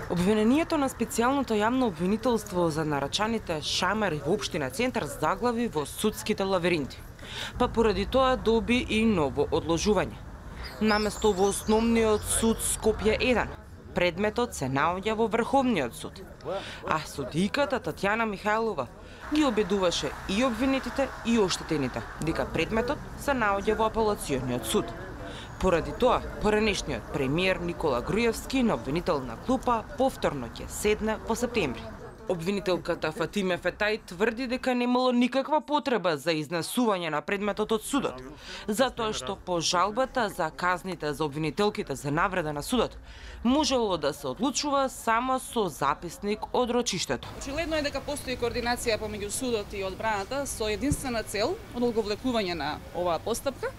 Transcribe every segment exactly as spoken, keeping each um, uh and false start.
Обвинението на специјалното јавно обвинителство за нарачаните шамари во општина Центар заглави во судските лавиринти, па поради тоа доби и ново одложување. Наместо во Основниот суд Скопје еден, предметот се наоѓа во Врховниот суд, а судиката Татјана Михајлова ги обедуваше и обвинетите и оштетените дека предметот се наоѓа во Апелациониот суд. Поради тоа, поранешниот премиер Никола Груевски на обвинителна клупа повторно ќе седне во септември. Обвинителката Фатиме Фетај тврди дека немало никаква потреба за изнесување на предметот од судот, затоа што по жалбата за казните за обвинителките за навреда на судот можело да се одлучува само со записник од рочиштето. Очигледно е дека постои координација помеѓу судот и одбраната со единствена цел од одговлекување на оваа постапка.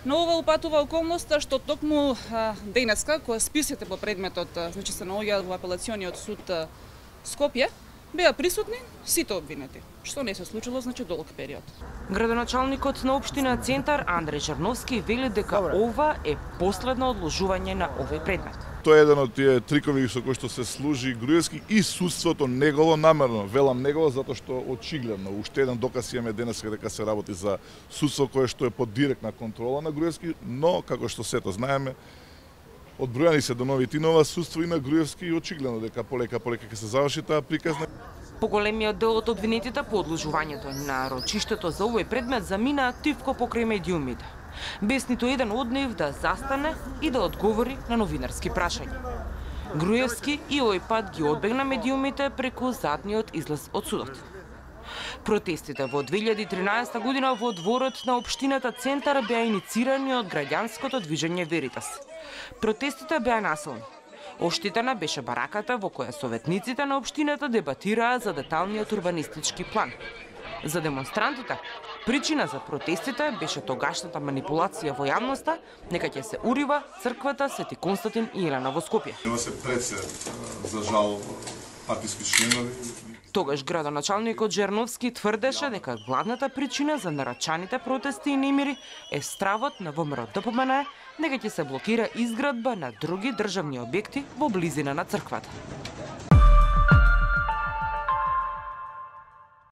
Но ова упатува околноста што токму денеска, кога списите по предметот значи се наоѓаат во Апелациониот суд Скопје, беа присутни сите обвинети, што не се случило значи долг период. Градоначалникот на општина Центар Андреј Жерновски вели дека ова е последно одложување на овој предмет. Тоа е еден од тие трикови со кои што се служи Груевски и судството негово намерно. Велам негово затоа што очигледно уште еден доказ имаме денеска дека се работи за судство кое што е под директна контрола на Груевски, но како што сето знаеме, одбројани се деновите нова судство и на Груевски и очигледно дека полека полека ќе се заврши таа приказна. Поголемиот дел од обвинетите по одложувањето на рочиштето за овој предмет замина тивко покрај медиумите, без ниту еден од нив да застане и да одговори на новинарски прашања. Груевски и овој пат ги одбегна медиумите преку задниот излез од судот. Протестите во две илјади и тринаесета година во дворот на општината Центар беа иницирани од граѓанското движење Веритас. Протестите беа насилни. Оштетена беше бараката во која советниците на општината дебатираа за деталниот урбанистички план. За демонстрантите, причина за протестите беше тогашната манипулација во јавноста дека ќе се урива црквата Свети Константин и Елена во Скопје. Нема се пресе, за жал, партиски членови. Тогаш градоначалникот Жерновски тврдеше дека главната причина за нарачаните протести и немири е стравот на ВМРО-ДПМН дека ќе се блокира изградба на други државни објекти во близина на црквата.